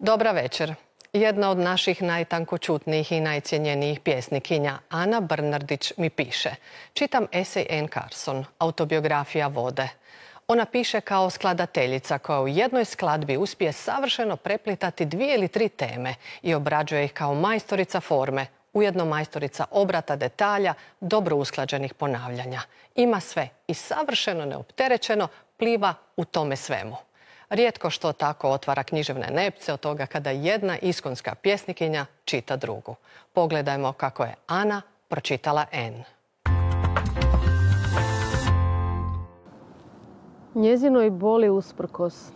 Dobra večer. Jedna od naših najtankočutnijih i najcijenjenijih pjesnikinja, Ana Brnardić, mi piše. Čitam esej Anne Carson, autobiografija vode. Ona piše kao skladateljica koja u jednoj skladbi uspije savršeno preplitati 2 ili 3 teme i obrađuje ih kao majstorica forme, ujedno majstorica obrata detalja, dobro usklađenih ponavljanja. Ima sve i savršeno neopterećeno pliva u tome svemu. Rijetko što tako otvara književne nepce od toga kada jedna iskonska pjesnikinja čita drugu. Pogledajmo kako je Ana pročitala Anne. Njezinoj boli usprkos,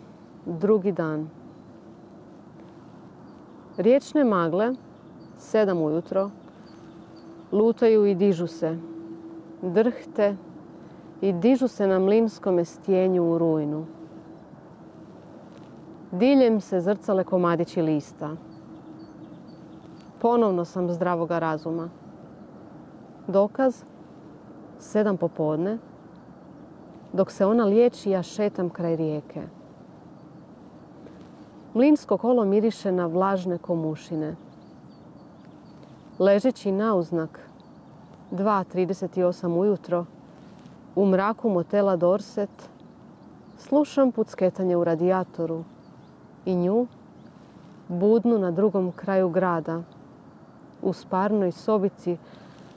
drugi dan. Riječne magle, 7 ujutro, lutaju i dižu se, drhte i dižu se na mlinskome stjenju u rujnu. Diljem se zrcale komadići lista. Ponovno sam zdravoga razuma. Dokaz, 7 popodne, dok se ona liječi, ja šetam kraj rijeke. Mlinsko kolo miriše na vlažne komušine. Ležeći nauznak, 2:38 ujutro, u mraku motela Dorset, slušam pucketanje u radijatoru i nju, budnu na drugom kraju grada, u sparnoj sobici,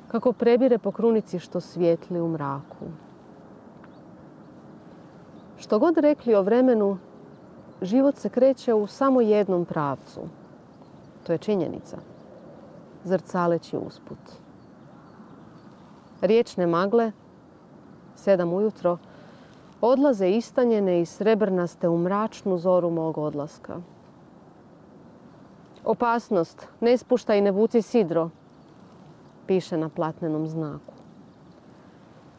kako prebire po krunici što svijetli u mraku. Što god rekli o vremenu, život se kreće u samo jednom pravcu. To je činjenica, zrcaleći usput. Riječne magle, 7 ujutro, odlaze istanjene i srebrnaste u mračnu zoru mog odlaska. Opasnost, ne spuštaj i ne vuci sidro, piše na platnenom znaku.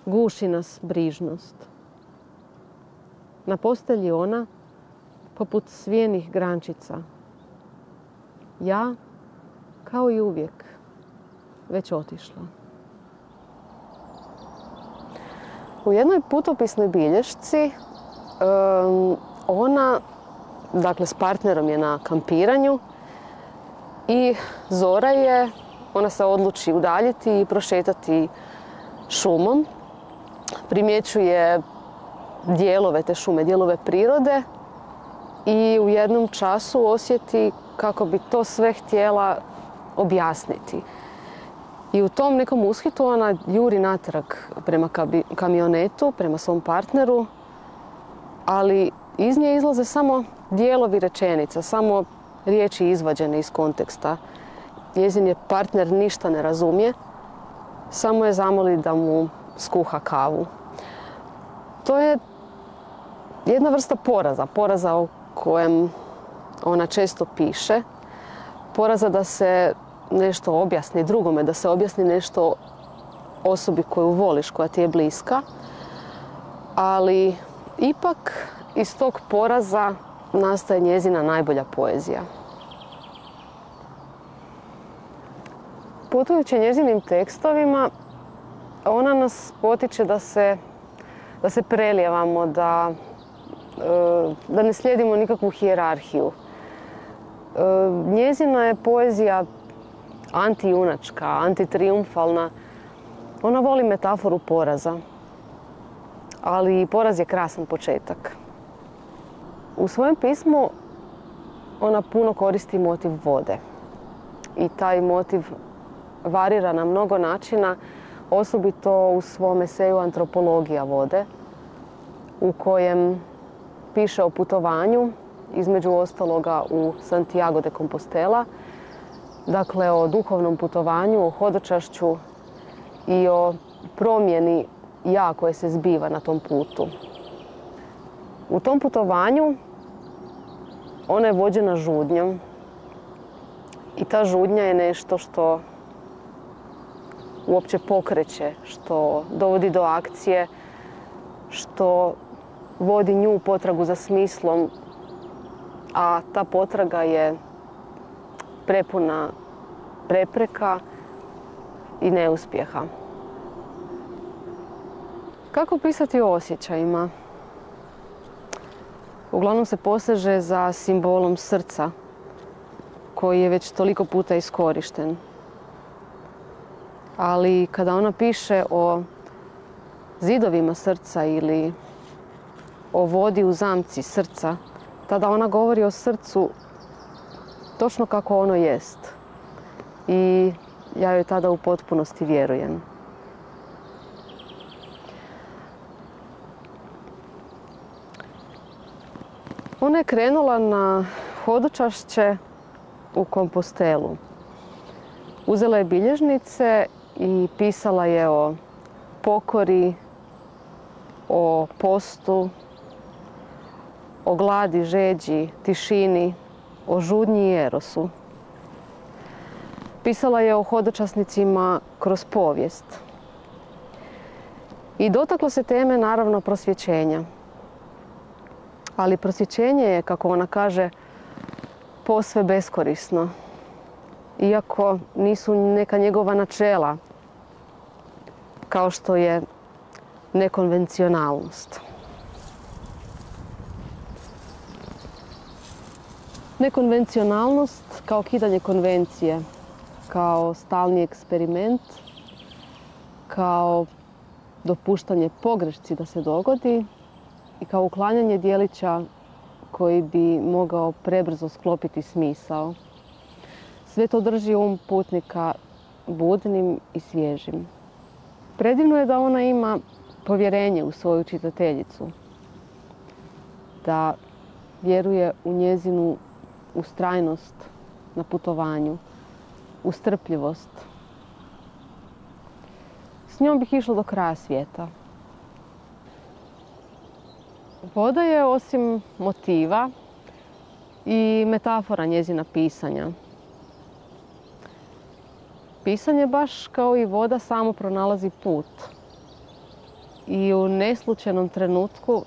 Guši nas brižnost. Na postelji ona, poput svijenih grančica. Ja, kao i uvijek, već otišla. U jednoj putopisnoj bilješci ona, dakle s partnerom je na kampiranju i zora je, ona se odluči udaljiti i prošetati šumom. Primjećuje dijelove te šume, dijelove prirode i u jednom času osjeti kako bi to sve htjela objasniti. I u tom nekom ushitu ona juri natrag prema kamionetu, prema svom partneru, ali iz nje izlaze samo dijelovi rečenica, samo riječi izvađene iz konteksta. Njezin je partner ništa ne razumije, samo je zamoli da mu skuha kavu. To je jedna vrsta poraza o kojem ona često piše, poraza da se nešto objasni drugome, da se objasni nešto osobi koju voliš, koja ti je bliska, ali ipak iz tog poraza nastaje njezina najbolja poezija. Putujući njezinim tekstovima, ona nas potiče da se prelijevamo, da ne slijedimo nikakvu hijerarhiju. Njezina je poezija antijunačka, antitrijumfalna. Ona voli metaforu poraza, ali poraz je krasan početak. U svojem pismu ona puno koristi motiv vode i taj motiv varira na mnogo načina, osobito u svom eseju Antropologija vode, u kojem piše o putovanju, između ostaloga u Santiago de Compostela, dakle o duhovnom putovanju, o hodočašću i o promjeni ja koje se zbiva na tom putu. U tom putovanju ona je vođena žudnjom i ta žudnja je nešto što uopće pokreće, što dovodi do akcije, što vodi nju u potragu za smislom, a ta potraga je prepuna prepreka i neuspjeha. Kako pisati o osjećajima? Uglavnom se poseže za simbolom srca koji je već toliko puta iskorišten. Ali kada ona piše o zidovima srca ili o vodi u zamci srca, tada ona govori o srcu točno kako ono jest. I ja joj tada u potpunosti vjerujem. Ona je krenula na hodočašće u Kompostelu. Uzela je bilježnice i pisala je o pokori, o postu, o gladi, žeđi, tišini, o žudnji i erosu. Pisala je o hodočasnicima kroz povijest. I dotakla se teme, naravno, prosvjećenja. Ali prosvjećenje je, kako ona kaže, posve beskorisno. Iako nisu neka njegova načela, kao što je nekonvencionalnost. Nekonvencionalnost kao kidanje konvencije, kao stalni eksperiment, kao dopuštanje pogrešci da se dogodi i kao uklanjanje dijelića koji bi mogao prebrzo sklopiti smisao. Sve to drži putnika budnim i svježim. Predivno je da ona ima povjerenje u svoju čitateljicu, da vjeruje u njezinu ustrajnost na putovanju, u strpljivost. S njom bih išla do kraja svijeta. Voda je, osim motiva, i metafora njezina pisanja. Pisanje, baš kao i voda, samo pronalazi put. I u neslučajnom trenutku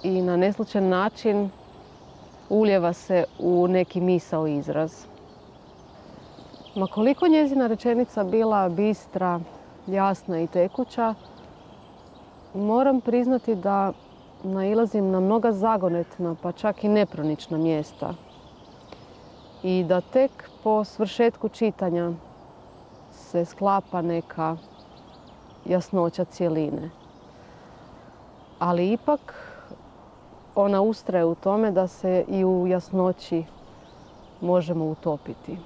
i na neslučajan način ulijeva se u neki misao izraz. Ma koliko njezina rečenica bila bistra, jasna i tekuća, moram priznati da nailazim na mnoga zagonetna, pa čak i nepronična mjesta. I da tek po svršetku čitanja se sklapa neka jasnoća cjeline. Ali ipak ona ustraje u tome da se i u jasnoći možemo utopiti.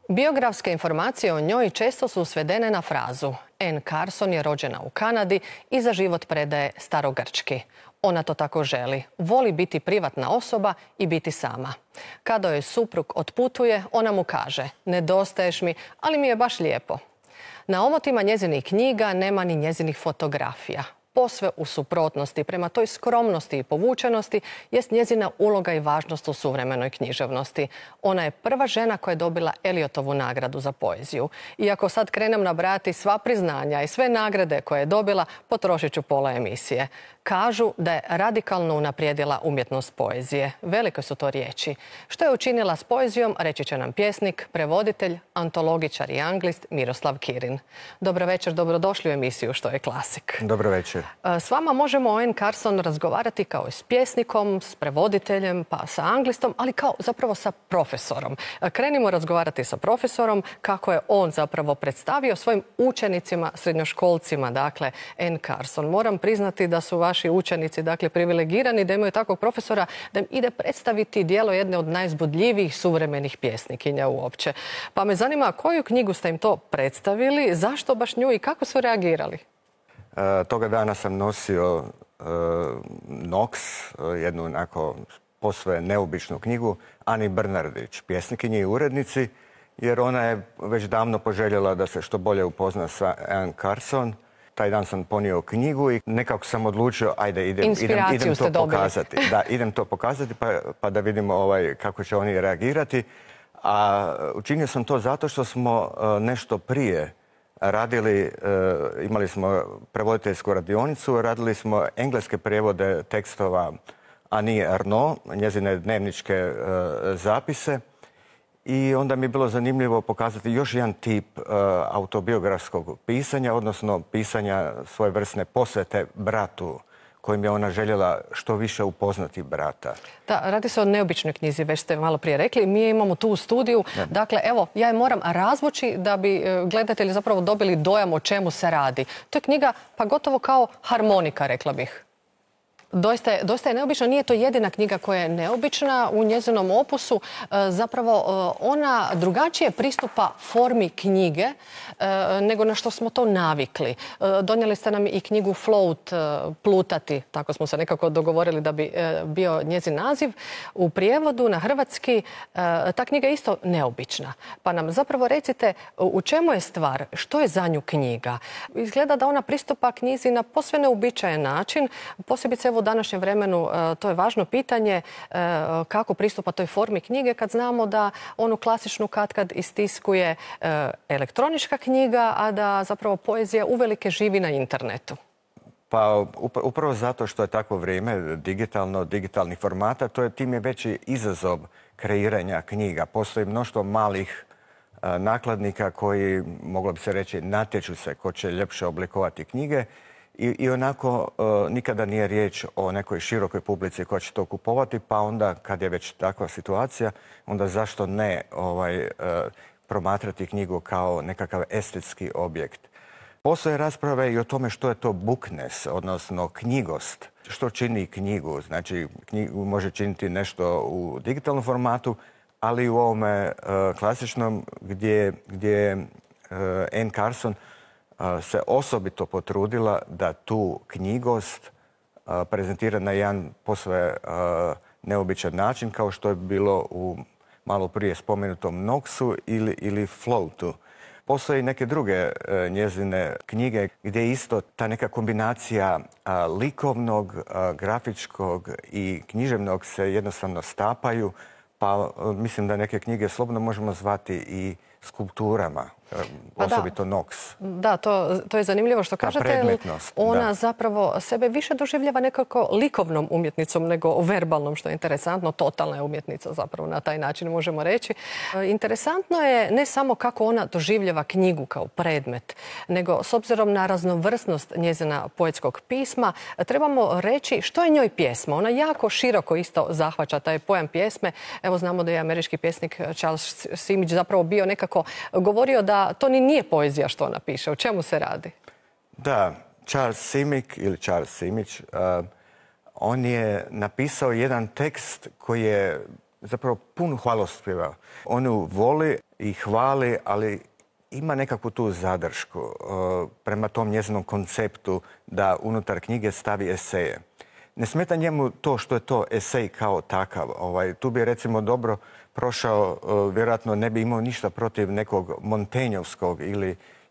Biografske informacije o njoj često su svedene na frazu Anne Carson je rođena u Kanadi i za život predaje starogrčki. Ona to tako želi. Voli biti privatna osoba i biti sama. Kada joj suprug otputuje, ona mu kaže: nedostaješ mi, ali mi je baš lijepo. Na omotima njezinih knjiga nema ni njezinih fotografija. Posve u suprotnosti prema toj skromnosti i povučenosti jest njezina uloga i važnost u suvremenoj književnosti. Ona je prva žena koja je dobila Eliotovu nagradu za poeziju. Iako sad krenem nabrajati sva priznanja i sve nagrade koje je dobila, potrošit ću pola emisije. Kažu da je radikalno unaprijedila umjetnost poezije. Velike su to riječi. Što je učinila s poezijom, reći će nam pjesnik, prevoditelj, antologičar i anglist Miroslav Kirin. Dobro večer, dobrodošli u emisiju Što je klasik. Dobro večer. S vama možemo o Anne Carson razgovarati kao i s pjesnikom, s prevoditeljem, pa sa anglistom, ali kao zapravo sa profesorom. Krenimo razgovarati sa profesorom kako je on zapravo predstavio svojim učenicima, srednjoškolcima, dakle, Anne Carson. Moram priznati da su vaši učenici, dakle, privilegirani da imaju takvog profesora da im ide predstaviti djelo jedne od najzbudljivijih suvremenih pjesnikinja uopće. Pa me zanima koju knjigu ste im to predstavili, zašto baš nju i kako su reagirali? Toga dana sam nosio Nox, jednu onako posve neobičnu knjigu, Ani Brnardić, pjesnikinji i urednici, jer ona je već davno poželjela da se što bolje upozna sa Anne Carson. Taj dan sam ponio knjigu i nekako sam odlučio, ajde, idem to pokazati. Da, idem to pokazati pa da vidimo kako će oni reagirati. A učinio sam to zato što smo nešto prije radili, imali smo prevoditeljsku radionicu, radili smo engleske prijevode tekstova Annie Ernaux, njezine dnevničke zapise. I onda mi je bilo zanimljivo pokazati još jedan tip autobiografskog pisanja, odnosno pisanja svojevrsne posvete bratu, kojim je ona željela što više upoznati brata. Da, radi se o neobičnoj knjizi, već ste malo prije rekli. Mi je imamo tu u studiju. Dakle, evo, ja je moram razvući da bi gledatelji zapravo dobili dojam o čemu se radi. To je knjiga, pa gotovo kao harmonika, rekla bih. Doista je neobična. Nije to jedina knjiga koja je neobična u njezinom opusu. Zapravo, ona drugačije pristupa formi knjige nego na što smo to navikli. Donijeli ste nam i knjigu Float, plutati, tako smo se nekako dogovorili da bi bio njezin naziv. U prijevodu na hrvatski ta knjiga je isto neobična. Pa nam zapravo recite u čemu je stvar, što je za nju knjiga. Izgleda da ona pristupa knjizi na posve neuobičajen način, posebice evo u današnjem vremenu to je važno pitanje kako pristupa toj formi knjige kad znamo da onu klasičnu katkad istiskuje elektronička knjiga, a da zapravo poezija uvelike živi na internetu. Pa upravo zato što je takvo vrijeme digitalnih formata, tim je veći izazov kreiranja knjiga. Postoji mnoštvo malih nakladnika koji, moglo bi se reći, natječu se ko će ljepše oblikovati knjige. I onako nikada nije riječ o nekoj širokoj publici koja će to kupovati, pa onda kad je već takva situacija, onda zašto ne promatrati knjigu kao nekakav estetski objekt. Postoje rasprave i o tome što je to bookness, odnosno knjigost. Što čini knjigu? Znači, knjigu može činiti nešto u digitalnom formatu, ali i u ovome klasičnom gdje Anne Carson se osobito potrudila da tu knjigost prezentira na jedan posve neobičan način, kao što je bilo u malo prije spomenutom Knoxu ili Floatu. Postoje i neke druge njezine knjige gdje isto ta neka kombinacija likovnog, grafičkog i književnog se jednostavno stapaju, pa mislim da neke knjige slobodno možemo zvati i skulpturama, osobito Knox. Da, to je zanimljivo što kažete. Ona zapravo sebe više doživljava nekako likovnom umjetnicom nego verbalnom, što je interesantno. Totalna je umjetnica zapravo na taj način možemo reći. Interesantno je ne samo kako ona doživljava knjigu kao predmet, nego s obzirom na raznovrsnost njezina poetskog pisma, trebamo reći što je njoj pjesma. Ona jako široko isto zahvaća taj pojam pjesme. Evo znamo da je američki pjesnik Charles Simić zapravo bio nekako govorio da to ni nije poezija što ona piše. O čemu se radi? Da, Charles Simić, on je napisao jedan tekst koji je zapravo pun hvalospjeva. On ju voli i hvali, ali ima nekakvu tu zadršku prema tom njezinom konceptu da unutar knjige stavi eseje. Ne smeta njemu to što je to esej kao takav. Tu bi recimo dobro prošao, vjerojatno ne bi imao ništa protiv nekog Montenjovskog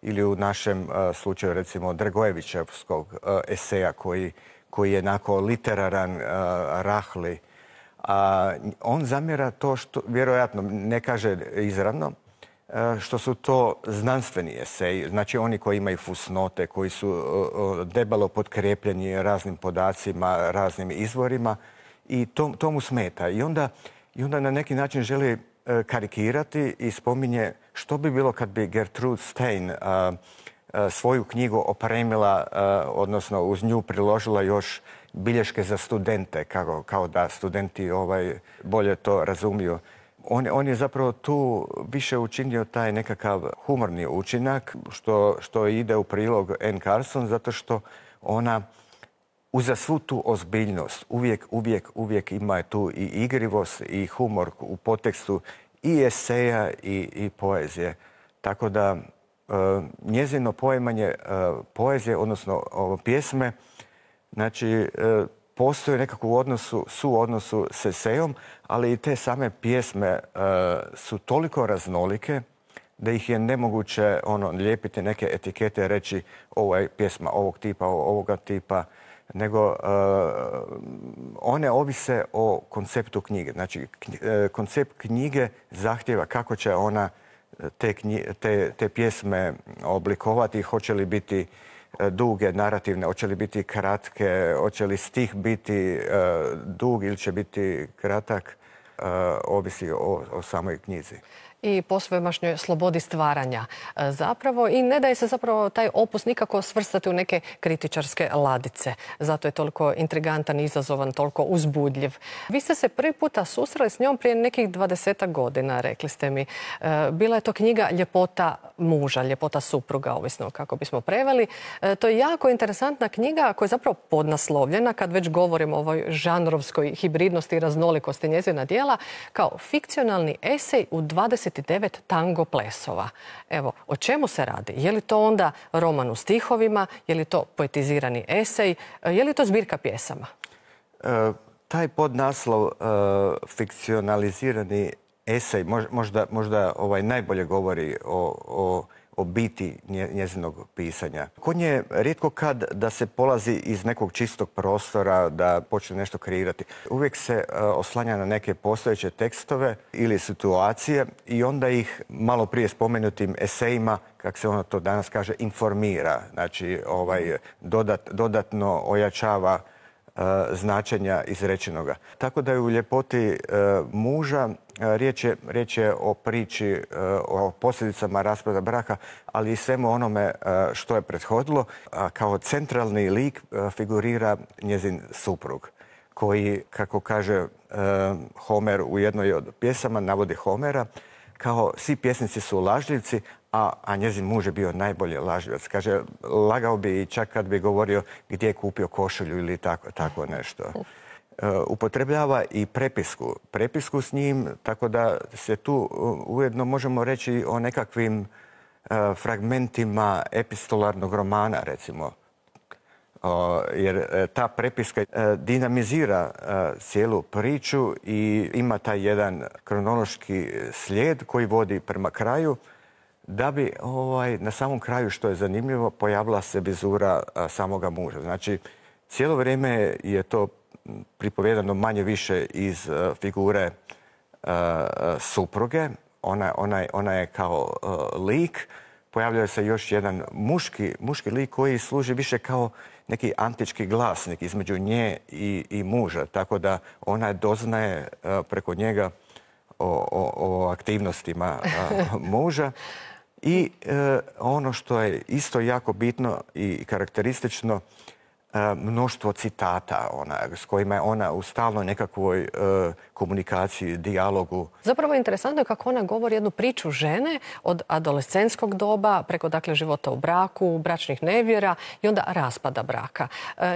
ili u našem slučaju recimo Dragojevićevskog eseja koji je jednako literaran, rahli. On zamjera to što, vjerojatno ne kaže izravno, što su to znanstveni eseji, znači oni koji imaju fusnote, koji su debelo potkrepljeni raznim podacima, raznim izvorima i to mu smeta. I onda na neki način želi karikirati i spominje što bi bilo kad bi Gertrude Stein svoju knjigu opremila, odnosno uz nju priložila još bilješke za studente, kao da studenti bolje to razumiju. On je zapravo tu više učinio taj nekakav humorni učinak, što ide u prilog Anne Carson, zato što ona uza svu tu ozbiljnost uvijek ima tu i igrivost i humor u potekstu i eseja i poezije. Tako da njezino poimanje poezije, odnosno pjesme, znači postoje nekako u suodnosu s esejom, ali i te same pjesme su toliko raznolike da ih je nemoguće lijepiti neke etikete, reći ovo je pjesma ovog tipa, ovoga tipa, nego one ovise o konceptu knjige. Znači, koncept knjige zahtjeva kako će ona te pjesme oblikovati, hoće li biti duge, narativne, hoće li biti kratke, hoće li stih biti dug ili će biti kratak. ovisi o samoj knjizi. I posvemašnjoj slobodi stvaranja zapravo i ne daje se zapravo taj opus nikako svrstati u neke kritičarske ladice. Zato je toliko intrigantan, izazovan, toliko uzbudljiv. Vi ste se prvi puta susreli s njom prije nekih 20 godina, rekli ste mi. Bila je to knjiga Ljepota muža, Ljepota supruga, ovisno kako bismo preveli. To je jako interesantna knjiga koja je zapravo podnaslovljena, kad već govorimo o ovoj žanrovskoj hibridnosti i raznolikosti njezina djela, kao fikcionalni esej u 29 tango plesova. Evo, o čemu se radi? Je li to onda roman u stihovima? Je li to poetizirani esej? Je li to zbirka pjesama? Taj podnaslov fikcionalizirani esej možda najbolje govori o biti njezinog pisanja. Kod nje rijetko kad da se polazi iz nekog čistog prostora, da počne nešto kreirati. Uvijek se oslanja na neke postojeće tekstove ili situacije i onda ih malo prije spomenutim esejima, kako se ono to danas kaže, informira. Znači, dodatno ojačava značenja izrečenoga. Tako da je u Ljepoti muža riječ je o priči, o posljedicama raspada braka, ali i svemu onome što je prethodilo. Kao centralni lik figurira njezin suprug, koji, kako kaže Homer u jednoj od pjesama, navodi Homera, kao svi pjesnici su lažljivci, a njezin muž je bio najbolji lažljivac. Kaže, lagao bi i čak kad bi govorio gdje je kupio košulju ili tako nešto. Upotrebljava i prepisku s njim, tako da se tu ujedno možemo reći o nekakvim fragmentima epistolarnog romana, recimo. Jer ta prepiska dinamizira cijelu priču i ima taj jedan kronološki slijed koji vodi prema kraju, da bi na samom kraju, što je zanimljivo, pojavila se vizura samoga muža. Znači, cijelo vrijeme je to pripovjedano manje više iz figure supruge. Ona je kao lik. Pojavljuje se još jedan muški lik koji služi više kao neki antički glasnik između nje i muža. Tako da ona doznaje preko njega o aktivnostima muža. I ono što je isto jako bitno i karakteristično, mnoštvo citata s kojima je ona u stalnoj nekakvoj komunikaciji, dijalogu. Zapravo interesantno je kako ona govori jednu priču žene od adolescenskog doba preko života u braku, bračnih nevjera i onda raspada braka.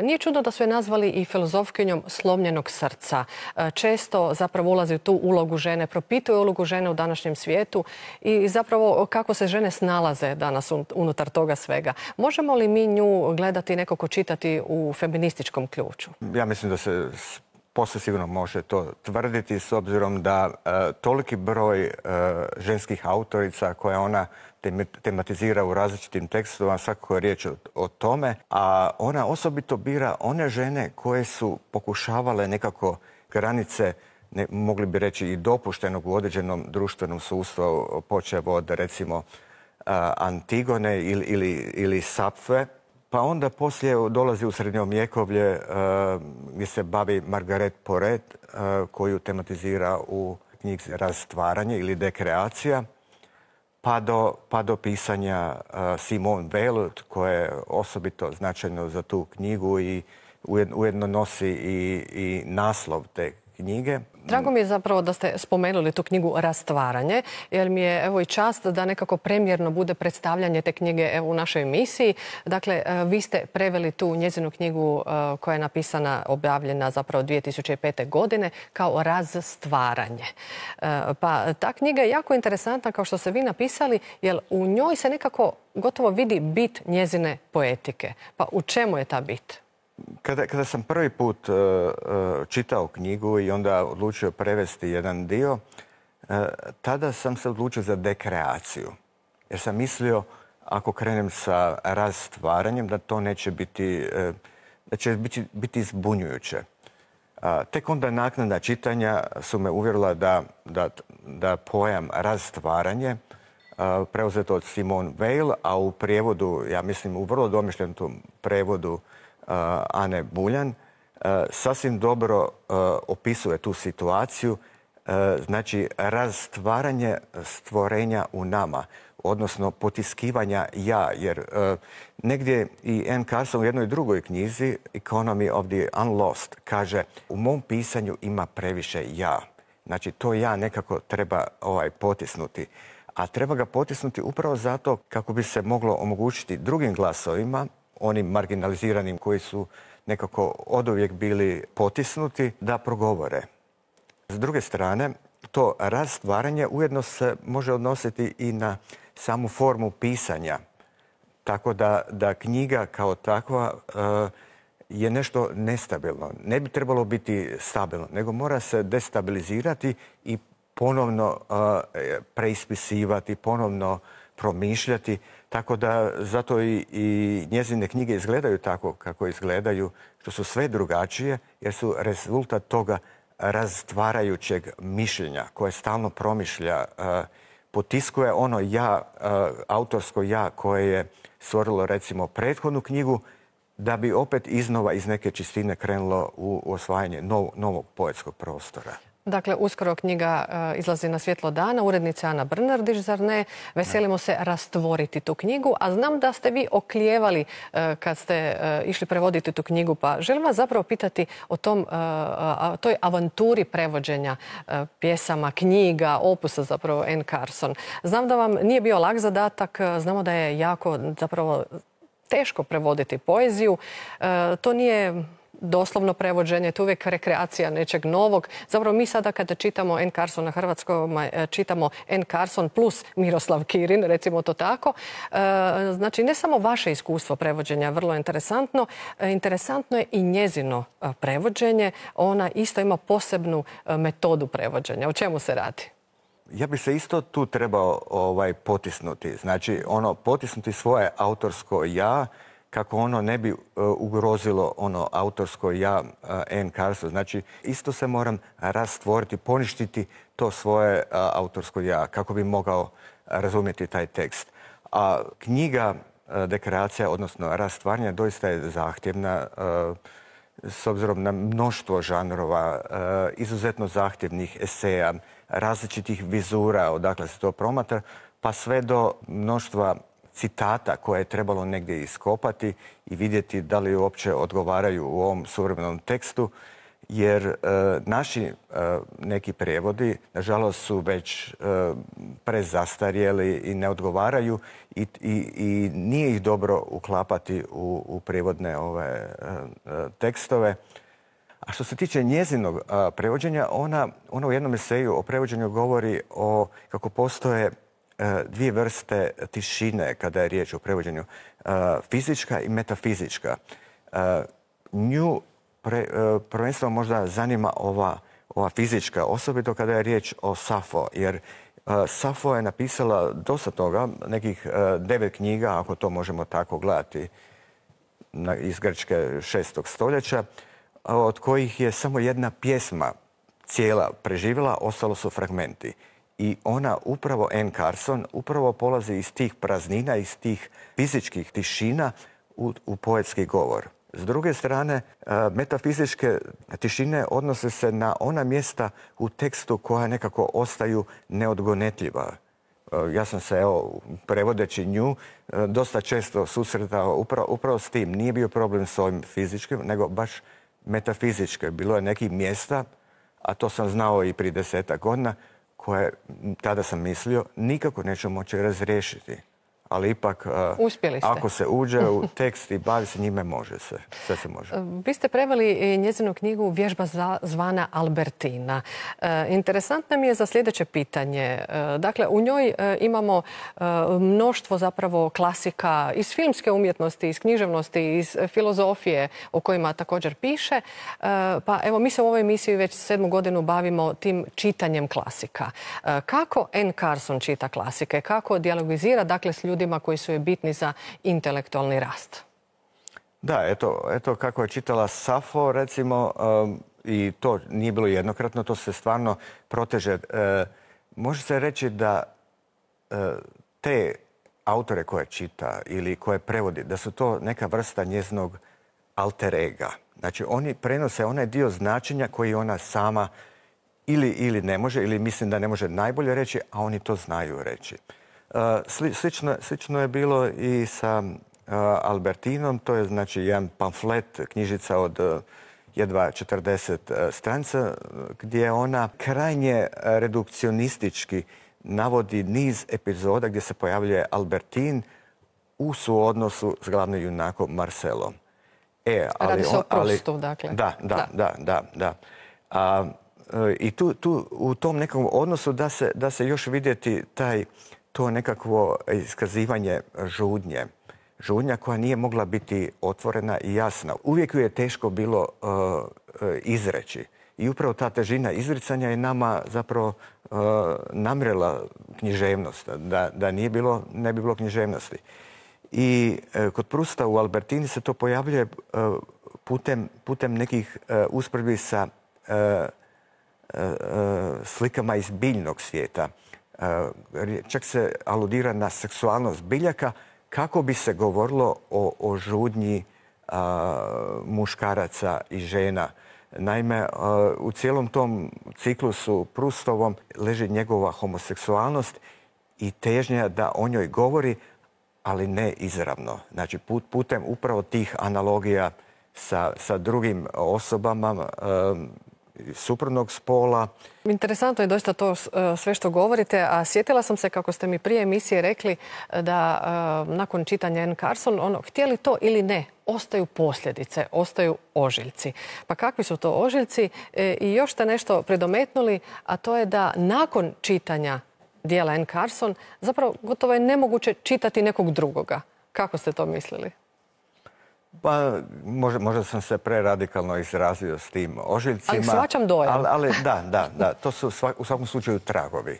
Nije čudno da su je nazvali i filozofkinjom slomljenog srca. Često zapravo ulazi u tu ulogu žene, propituje ulogu žene u današnjem svijetu i zapravo kako se žene snalaze danas unutar toga svega. Možemo li mi nju gledati, nekako čitati u feminističkom ključu? Ja mislim da se posve sigurno može to tvrditi, s obzirom da toliki broj ženskih autorica koje ona tematizira u različitim tekstovima, svakako je riječ o tome, a ona osobito bira one žene koje su pokušavale nekako granice, mogli bi reći i dopuštenog u određenom društvenom sustavu, počev od recimo Antigone ili Sapfe. Pa onda poslije dolazi u srednjovjekovlje gdje se bavi Margaret Porete, koju tematizira u knjizi Rastvaranje ili Dekreacija, pa do pisanja Simone Weil, koje je osobito značajno za tu knjigu i ujedno nosi i naslov te knjige. Drago mi je zapravo da ste spomenuli tu knjigu Rastvaranje, jer mi je evo i čast da nekako premijerno bude predstavljanje te knjige u našoj emisiji. Dakle, vi ste preveli tu njezinu knjigu koja je napisana, objavljena zapravo 2005. godine kao Razstvaranje. Pa ta knjiga je jako interesantna, kao što ste vi napisali, jer u njoj se nekako gotovo vidi bit njezine poetike. Pa u čemu je ta bit? Kada sam prvi put čitao knjigu i onda odlučio prevesti jedan dio, tada sam se odlučio za dekreaciju. Jer sam mislio, ako krenem sa razstvaranjem, da to neće biti, da će biti zbunjujuće. Tek onda naknadna čitanja su me uvjerila da pojam razstvaranje, preuzeto od Simone Weil, a u prijevodu, ja mislim u vrlo domišljenom prevodu Ane Buljan, sasvim dobro opisuje tu situaciju znači razstvaranje stvorenja u nama, odnosno potiskivanja ja, jer negdje i Anne Carson u jednoj drugoj knjizi, Economy of the Unlost, kaže u mom pisanju ima previše ja. Znači to ja nekako treba potisnuti. A treba ga potisnuti upravo zato kako bi se moglo omogućiti drugim glasovima, onim marginaliziranim koji su nekako oduvijek bili potisnuti, da progovore. S druge strane, to rastvaranje ujedno se može odnositi i na samu formu pisanja. Tako da knjiga kao takva je nešto nestabilno. Ne bi trebalo biti stabilno, nego mora se destabilizirati i ponovno preispisivati, ponovno promišljati. Tako da zato i njezine knjige izgledaju tako kako izgledaju, što su sve drugačije, jer su rezultat toga razstvarajućeg mišljenja koje stalno promišlja, potiskuje ono ja, autorsko ja koje je stvorilo recimo prethodnu knjigu, da bi opet iznova iz neke čistine krenulo u osvajanje novog poetskog prostora. Dakle, uskoro knjiga izlazi na svjetlo dana, urednica Ana Brnardić, zar ne? Veselimo se rastvoriti tu knjigu, a znam da ste vi oklijevali kad ste išli prevoditi tu knjigu, pa želim vas zapravo pitati o toj avanturi prevođenja pjesama, knjiga, opusa zapravo Anne Carson. Znam da vam nije bio lak zadatak, znamo da je jako zapravo teško prevoditi poeziju. To nije doslovno prevođenje, to je uvijek rekreacija nečeg novog. Zapravo mi sada kada čitamo Anne Carson na hrvatskom, čitamo Anne Carson plus Miroslav Kirin, recimo to tako. Znači, ne samo vaše iskustvo prevođenja, vrlo interesantno. Interesantno je i njezino prevođenje. Ona isto ima posebnu metodu prevođenja. O čemu se radi? Ja bih se isto tu trebao potisnuti. Znači, potisnuti svoje autorsko ja, kako ono ne bi ugrozilo ono autorsko ja Anne Carson. Znači, isto se moram rastvoriti, poništiti to svoje autorsko ja, kako bi mogao razumjeti taj tekst. A knjiga dekreacija, odnosno rastvaranje, doista je zahtjevna s obzirom na mnoštvo žanrova, izuzetno zahtjevnih eseja, različitih vizura, odakle se to promatra, pa sve do mnoštva citata koje je trebalo negdje iskopati i vidjeti da li uopće odgovaraju u ovom suvremenom tekstu, jer naši neki prijevodi, nažalost, su već prezastarjeli i ne odgovaraju i nije ih dobro uklapati u prijevodne tekstove. A što se tiče njezinog prevođenja, ona u jednom eseju o prevođenju govori o kako postoje dvije vrste tišine kada je riječ o prevođenju, fizička i metafizička. Nju prvenstveno možda zanima ova fizička, osobito kada je riječ o Safo, jer Safo je napisala dosta toga, nekih 9 knjiga, ako to možemo tako gledati, iz Grčke 6. stoljeća, od kojih je samo jedna pjesma cijela preživjela, ostalo su fragmenti. I ona upravo, Anne Carson, upravo polazi iz tih praznina, iz tih fizičkih tišina u poetski govor. S druge strane, metafizičke tišine odnose se na ona mjesta u tekstu koja nekako ostaju neodgonetljiva. Ja sam se, prevodeći nju, dosta često susretao upravo s tim. Nije bio problem s ovim fizičkim, nego baš metafizičke. Bilo je nekih mjesta, a to sam znao i prije 10 godina, koje, tada sam mislio, nikako neću moći razriješiti. Ali ipak, ako se uđe u tekst i bavi se njime, može se. Sve se može. Vi ste preveli njezinu knjigu Vježba zvana Albertina. Interesantna mi je za sljedeće pitanje. Dakle, u njoj imamo mnoštvo zapravo klasika iz filmske umjetnosti, iz književnosti, iz filozofije o kojima također piše. Pa evo, mi se u ovoj emisiji već 7. godinu bavimo tim čitanjem klasika. Kako Anne Carson čita klasike? Kako dijalogizira, dakle, s ljudima koji su joj bitni za intelektualni rast? Da, eto kako je čitala Safo, recimo, i to nije bilo jednokratno, to se stvarno proteže. Može se reći da te autore koje čita ili koje prevodi, da su to neka vrsta njezinog alter ega. Znači, oni prenose onaj dio značenja koji ona sama ili ne može, ili mislim da ne može najbolje reći, a oni to znaju reći. Slično je bilo i sa Albertinom, to je znači jedan pamflet, knjižica od jedva 40 stranica, gdje ona krajnje redukcionistički navodi niz epizoda gdje se pojavljuje Albertin u suodnosu s glavnim junakom Marcelom. Radi se o Prustu, dakle. Da. I tu u tom nekom odnosu da se još vidjeti to nekakvo iskazivanje žudnje. Žudnja koja nije mogla biti otvorena i jasna. Uvijek ju je teško bilo izreći. I upravo ta težina izricanja je nama zapravo namrela književnost. Da ne bi bilo književnosti. I kod Prusta u Albertini se to pojavljuje putem nekih usporedbi sa slikama iz biljnog svijeta. Čak se aludira na seksualnost biljaka kako bi se govorilo o žudnji muškaraca i žena. Naime, u cijelom tom ciklusu Prustovom leži njegova homoseksualnost i težnja da o njoj govori, ali ne izravno. Znači, putem upravo tih analogija sa drugim osobama suprotnog spola. Interesantno je doista to sve što govorite, a sjetila sam se kako ste mi prije emisije rekli da nakon čitanja N. Carson, htjeli to ili ne, ostaju posljedice, ostaju ožiljci. Pa kakvi su to ožiljci? I još ste nešto predometnuli, a to je da nakon čitanja dijela N. Carson zapravo gotovo je nemoguće čitati nekog drugoga. Kako ste to mislili? Pa, možda sam se preradikalno izrazio s tim ožiljcima. Ali shvaćam dojam. Ali da, to su u svakom slučaju tragovi.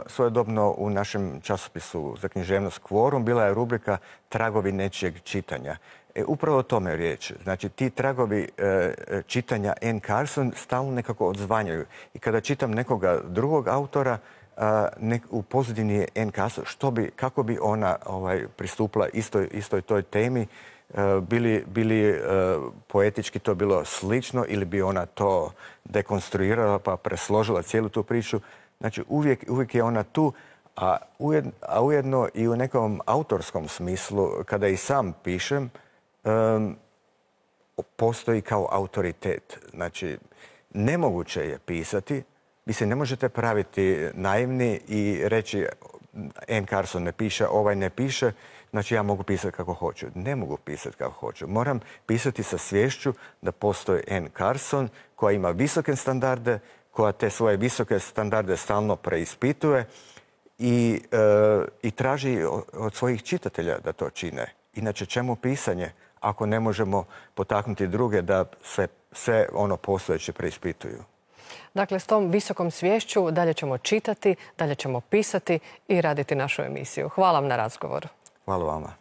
Svojedobno u našem časopisu za književnost Kvorum bila je rubrika Tragovi nečijeg čitanja. Upravo o tome je riječ. Znači, ti tragovi čitanja N. Carson stalno nekako odzvanjaju. I kada čitam nekoga drugog autora, u pozadini je N. Carson, kako bi ona pristupila istoj toj temi, bili poetički to bilo slično ili bi ona to dekonstruirala pa presložila cijelu tu priču. Znači, uvijek je ona tu, a ujedno i u nekom autorskom smislu, kada i sam pišem, postoji kao autoritet. Znači, nemoguće je pisati. Vi se ne možete praviti naivni i reći N. Carson ne piše, ovaj ne piše, znači ja mogu pisati kako hoću. Ne mogu pisati kako hoću. Moram pisati sa sviješću da postoji N. Carson koja ima visoke standarde, koja te svoje visoke standarde stalno preispituje i traži od svojih čitatelja da to čine. Inače, čemu pisanje ako ne možemo potaknuti druge da sve ono postojeće preispituju? Dakle, s tom visokom sviješću dalje ćemo čitati, dalje ćemo pisati i raditi našu emisiju. Hvala vam na razgovoru. Hvala vama.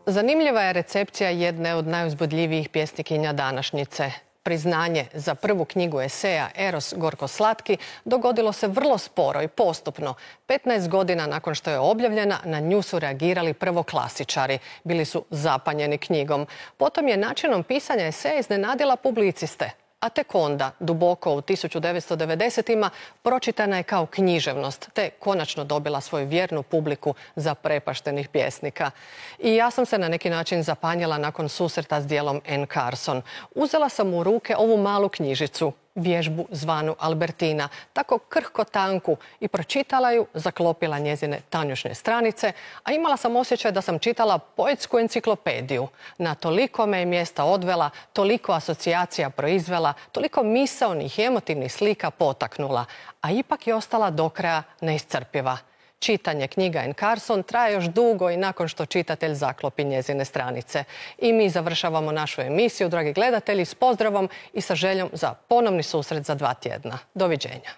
Zanimljiva je recepcija jedne od najuzbudljivijih pjesnikinja današnjice. Priznanje za prvu knjigu eseja Eros gorko slatki dogodilo se vrlo sporo i postupno. 15 godina nakon što je objavljena, na nju su reagirali prvoklasičari. Bili su zapanjeni knjigom. Potom je načinom pisanja eseja iznenadila publiciste. A tek onda, duboko u 1990-ima, pročitana je kao književnost, te konačno dobila svoju vjernu publiku zaprepaštenih pjesnika. I ja sam se na neki način zapanjila nakon susreta s dijelom N. Carson. Uzela sam u ruke ovu malu knjižicu, vježbu zvanu Albertina, tako krhko tanku, i pročitala ju, zaklopila njezine tanjušne stranice, a imala sam osjećaj da sam čitala poetsku enciklopediju. Na toliko me je mjesta odvela, toliko asocijacija proizvela, toliko misaonih i emotivnih slika potaknula, a ipak je ostala do kraja neiscrpiva. Čitanje knjiga N. Carson traje još dugo i nakon što čitatelj zaklopi njezine stranice. I mi završavamo našu emisiju, dragi gledatelji, s pozdravom i sa željom za ponovni susret za 2 tjedna. Doviđenja.